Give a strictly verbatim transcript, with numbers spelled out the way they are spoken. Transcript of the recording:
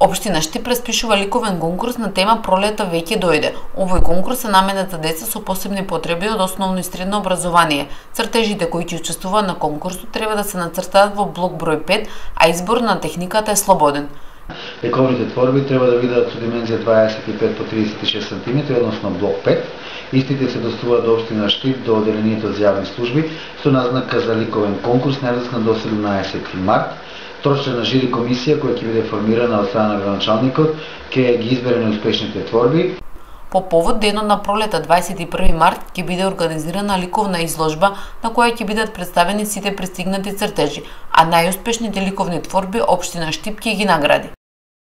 Општина Штип распишува ликовен конкурс на тема Пролета веќе дојде. Овој конкурс е наменет за деца со посебни потреби од основно и средно образование. Цртежите кои ќе учествуваат на конкурсот треба да се нацртаат во блок број пет, а избор на техниката е слободен. Ликовните творби треба да бидат со димензија дваесет и пет по тридесет и шест сантиметри, односно блок пет. Истите се доставуваат до општина Штип до одделението за јавни служби со назнака за ликовен конкурс најдоцна до седумнаесети март. Трочлена жири комисија која ќе биде формирана од страна на градоначалникот ќе ги избере најуспешните творби. По повод денот на пролета дваесет и први март ќе биде организирана ликовна изложба на која ќе бидат представени сите пристигнати цртежи, а најуспешните ликовни творби општина Штип ќе ги награди.